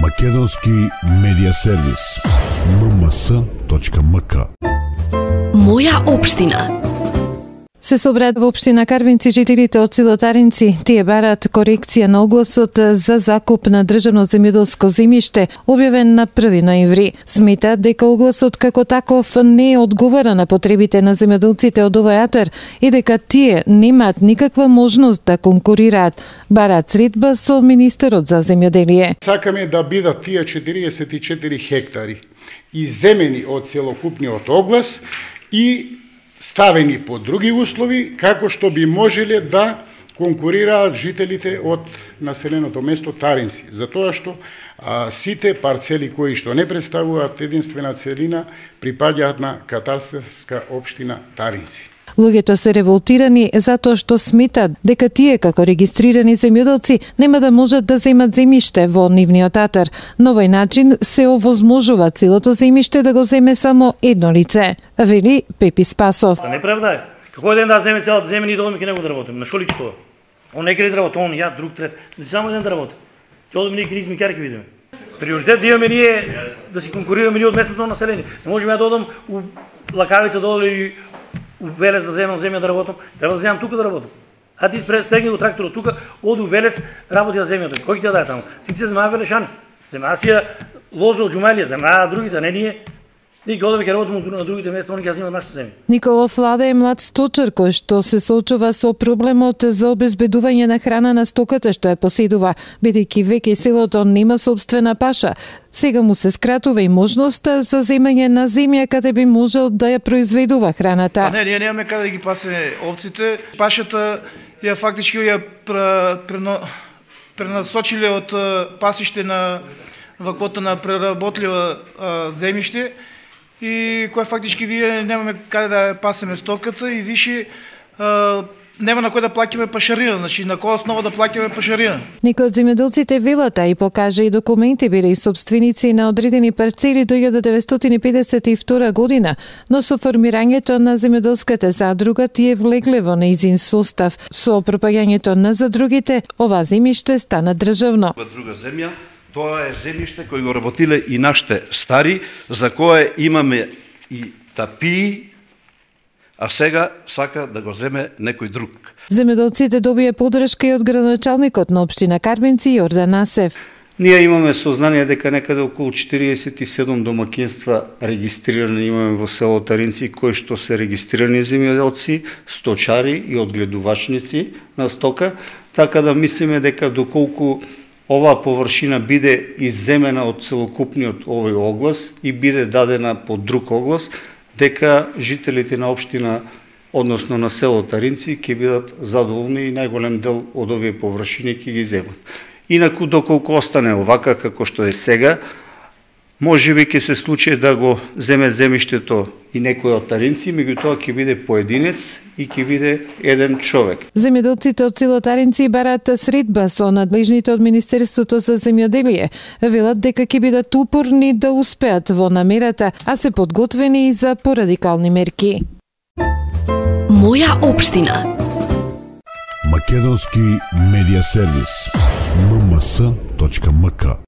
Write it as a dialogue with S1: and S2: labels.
S1: Македонски медиа сервис mms.mk.
S2: Моја општина.
S3: Се собрат во општина Карвинци жителите од село Таринци. Тие бараат корекција на огласот за закуп на државно земјоделско земјиште, објавен на 1 ноември. Сметаат дека огласот како таков не одговара на потребите на земјоделците од овој атар и дека тие немаат никаква можност да конкурираат. Бараат средба со министерот за земјоделие.
S4: Сакаме да бидат тие 44 хектари изземени од целокупниот оглас и ставени по други услови, како што би можеле да конкурираат жителите од населеното место Таринци. Затоа што сите парцели кои што не представуваат единствена целина припаѓаат на катастарска општина Таринци.
S3: Луѓето се револтирани затоа што сметат дека тие како регистрирани земјоделци нема да можат да земат земјиште во нивниот атар. На овој начин се овозможува целото земјиште да го земе само едно лице, вели Пепи Спасов.
S5: Неправда е. Како ден да земе целата земја и долу ќе него да работиме. На шо личи тоа? Он не ќе работи, он ја друг трет. Само еден да работи. Ќе одиме ние кризми ќе видиме. Приоритет да имаме ние да си конкурираме ние од местното население. Не можеме да одам у Лакавица долу или Велес да земам земја да работам, треба да земам тука да работам. А ти стегни го тракторот тука, оди у Велес, работи на земјата. Кој ќе ти ја даде таму? Сите се земаа велешани. Земаа си ја лоза од џумелија, земаа другите, не ние. Ние ќе одиме ќе работиме на другите места, они ќе земат нашите земји.
S3: Николов Владе е млад сточар кој што се соочува со проблемот за обезбедување на храна на стоката што ја поседува, бидејќи веќе селото нема собствена паша. Сега му се скратува и можноста за земање на земја каде би можел да ја произведува храната.
S6: Не, ние немаме каде да ги пасеме овците. Пашата ја фактички ја пренасочиле од пасиште на ваквото на преработлива земјиште, и кој фактички вие немаме каде да пасеме стоката и више нема на кој да плаќаме пашарина, значи на која основа да плаќаме пашарина.
S3: Некои од земјоделците велат и покажа и документи биле и собственици на одредени парцели до 1952 година, но со формирањето на земјоделската задруга тие влегле во нејзин состав. Со пропаѓањето на задругите, ова земјиште стана државно.
S7: Друга земја, тоа е земјиште кој го работиле и нашите стари, за кое имаме и тапии, а сега сака да го земе некој друг.
S3: Земјоделците добија поддршка и од градоначалникот на општина Карвинци Јордан Асев.
S8: Ние имаме сознание дека некаде околу 47 домакинства регистрирани имаме во село Таринци, кои што се регистрирани земјоделци, сточари и одгледувачници на стока, така да мислиме дека доколку оваа површина биде изземена од целокупниот овој оглас и биде дадена под друг оглас, дека жителите на општина, односно на село Таринци, ќе бидат задоволни и најголем дел од овие површини ќе ги земат. Инаку, доколку остане овака како што е сега, можеби ќе се случи да го земе земјиштето и некој од Таринци, меѓутоа ќе биде поединец и ќе биде еден човек.
S3: Земјоделците од село Таринци бараат средба со надлежните од Министерството за земјоделие. Велат дека ќе бидат упорни да успеат во намерата, а се подготвени и за порадикални мерки.
S2: Моја општина.
S1: Македонски медиа сервис mms.mk.